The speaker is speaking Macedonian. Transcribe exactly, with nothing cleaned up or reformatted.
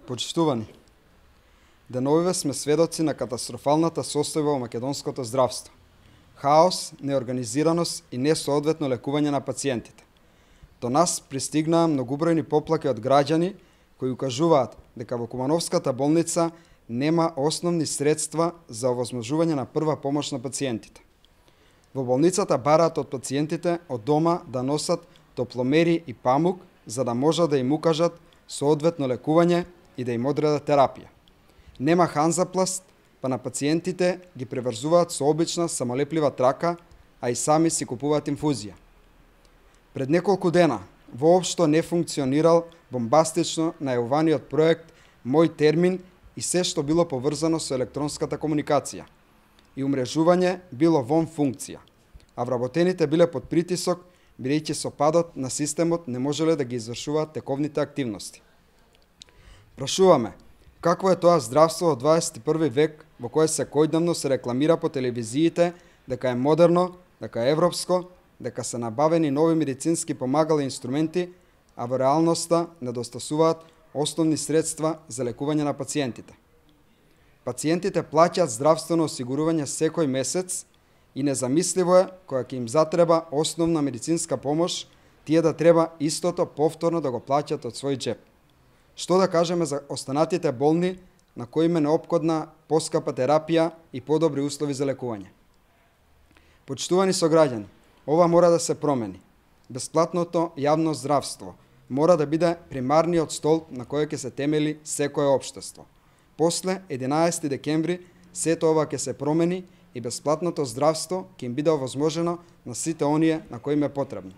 Почитувани, деновиве сме сведоци на катастрофалната состојба во македонското здравство. Хаос, неорганизираност и несоодветно лекување на пациентите. До нас пристигнаа многубројни поплаки од граѓани кои укажуваат дека во Кумановската болница нема основни средства за овозможување на прва помош на пациентите. Во болницата бараат од пациентите од дома да носат топломери и памук за да можат да им укажат соодветно лекување и да им одредат терапија. Нема ханзапласт, па на пациентите ги преврзуваат со обична самолеплива трака, а и сами си купуваат инфузија. Пред неколку дена воопшто не функционирал бомбастично најавуваниот проект Мој термин и се што било поврзано со електронската комуникација. И умрежување било вон функција, а вработените биле под притисок, бидејќи со падот на системот не можеле да ги извршуваат тековните активности. Прашуваме, какво е тоа здравство во дваесет и први век во кое секојдневно се рекламира по телевизиите дека е модерно, дека е европско, дека се набавени нови медицински помагала и инструменти, а во реалноста недостасуваат основни средства за лекување на пациентите. Пациентите плаќаат здравствено осигурување секој месец и незамисливо е кога ќе им затреба основна медицинска помош, тие да треба истото повторно да го плаќат од свој џеп. Што да кажеме за останатите болни на кои им е неопходна поскапа терапија и подобри услови за лекување? Почитувани сограѓани, ова мора да се промени. Бесплатното јавно здравство мора да биде примарниот столб на кој ќе се темели секое општество. После единаесети декември сето ова ќе се промени и бесплатното здравство ќе им биде овозможено на сите оние на кои им е потребно.